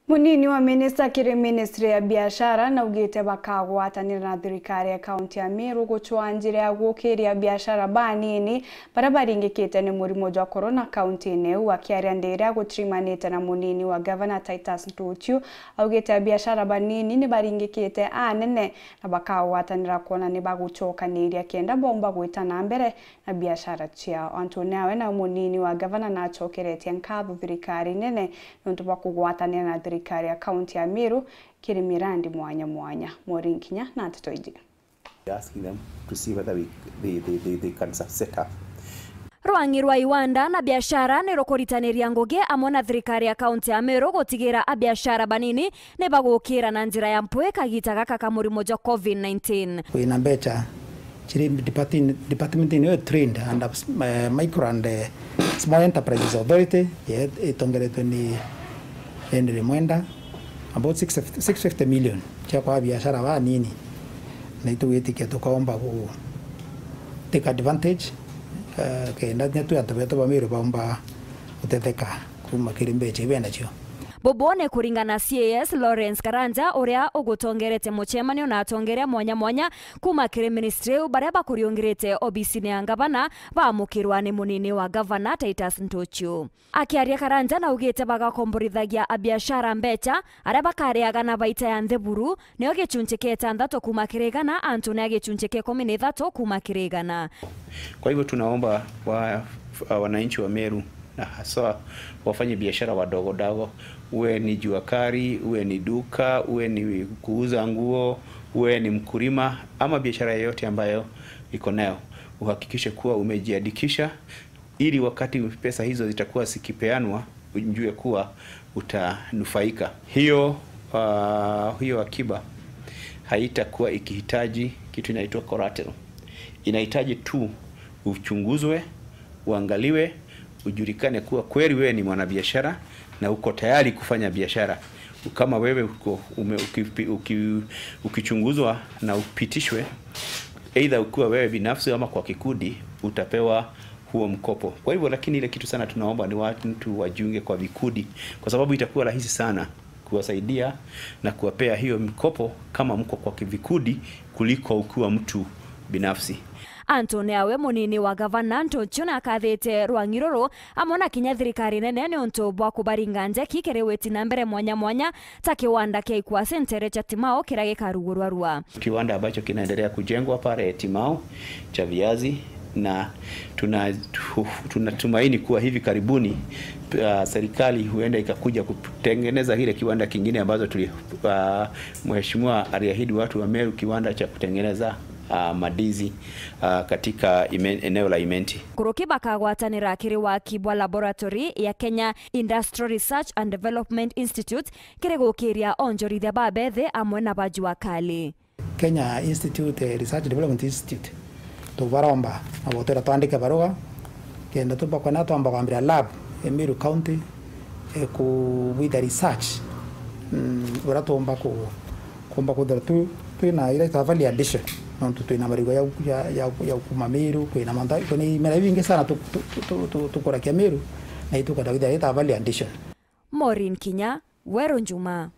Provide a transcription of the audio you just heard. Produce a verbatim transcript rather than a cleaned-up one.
Munini wa minista kiri ministry ya biashara naugite bakagwatanira na thirikari ya kaunti ya Meru gucwaa njira ya gukiria biashara banini baria baringikite ni murimo jwa corona kaunti-ini iu. Akiaria ndi iria gutirimanite na munini wa gavana Titus Ntuchu, augite abiashara banini ni baringikite anene na bakagwatanira kwona ni bagucokaniria kenda bomba gwita na mbere na biashara ciao. Antu nawe na munini wa gavana nacokeretie nkatho thirikari nene niuntu bwa kugwatanira na thirikari ya kaunti ya Meru kiri mirandi mwanya mwanya. Maureen Kinya na nteto iji. We are asking them to see whether we, they, they, they, they can set up. Rwang'i rwa iwanda na biashara ni rukuritaniria ngugi amwe na thirikari ya kaunti ya Meru gutigira abiashara banini ni bagukira na njira ya mpwi kagita gaka ka murimo jwa covid nineteen. Kwina mbecha chiri department, department-ini yo trained under, eh, Micro and, eh, Small Enterprises Authority, ye-, itongeretwe ni Henry Mwenda, about six, six fifty million cia kwa biashara banini, na itugwitikia tukaomba ku take advantage, eh, kenda kinya twi antu betu ba Meru baumba gutetheka kuma kiri mbecha ibe nacio. Bubu ni kuringana na C A S Lawrence Karanja, uria ugutongerete mucemanio na atongeria mwanya mwanya kuma kiri ministry iu, baria bakuriungirite obisini ya ngavana, baamukirwa ni munini wa ngavana Titus Ntuchu. Akiaria Karanja naugite bagakomborithagia abiashara mbecha, aria bakariaga na baita ya nthi buru, nio gicunchi kia itantatu kuma kiri igana, antu ni a gicunchi kia ikumi na ithatu kuma kiri igana. Kwa hivyo tunaomba wa, wananchi wa Meru na haswa wafanye biashara wadogo dogo, uwe ni jua kali, uwe ni duka, uwe ni kuuza nguo, uwe ni mkulima ama biashara yoyote ambayo iko nayo, uhakikishe kuwa umejiandikisha ili wakati pesa hizo zitakuwa zikipeanwa, ujue kuwa utanufaika. Hiyo, ah, hiyo akiba haitakuwa ikihitaji kitu inaitwa collateral. Inahitaji tu uchunguzwe, uangaliwe, ujulikane kuwa kweli wewe ni mwanabiashara na uko tayari kufanya biashara. Kama wewe uko, ume-, ukipi-, uki-, ukichunguzwa na upitishwe, either ukiwa wewe binafsi ama kwa kikundi, utapewa huo mkopo. Kwa hivyo, lakini ile kitu sana tunaomba ni watu wajiunge kwa vikundi, kwa sababu itakuwa rahisi sana kuwasaidia na kuwapea hiyo mkopo kama mko kwa vikundi kuliko ukiwa mtu binafsi. Antu ni awe munini wa gavana Ntuchu nakathite rwang'i ruru amwe na kinya thirikari nene niuntu bwa kubaringa njeki kiri witi na mbere mwanya mwanya, ta kiwanda kia ikwasi ntere cha Timau kiria gikarugurwa rua. Kiwanda ambacho kinaendelea kujengwa pale Timau cha viazi, na tuna-, tu-, tunatumaini kuwa hivi karibuni, uh, serikali huenda ikakuja kutengeneza kile kiwanda kingine ambazo tuli-, uh, mheshimiwa aliahidi watu wa Meru, kiwanda cha kutengeneza, uh, madizi, uh, katika Ime-, eneo la Imenti. Nkuruki bakagwatanira kiri waki bwa laboratory ya Kenya Industrial Research and Development Institute kiri gukiria onjorithia ba bethi amwe na ba jua kali. Kenya Institute, eh, Research Development Institute, tubaromba na gutwira twandike barua kenda tubakwenda twamba kwambira lab e Meru County, eh, ku-, with the research, mm, uria tuumba ku-, kuumba kwithira tu-, twina ira ita value addition, nontu twina marigwa ya, ya, ya, ya kuma Meru, kwina mantha, kwina imera ibingi sana tu-, tu-, tu-, tu-, tu-, tukurakia Meru, na itukwenda kwithira ita value addition. Maureen Kinya, Weru Njuma.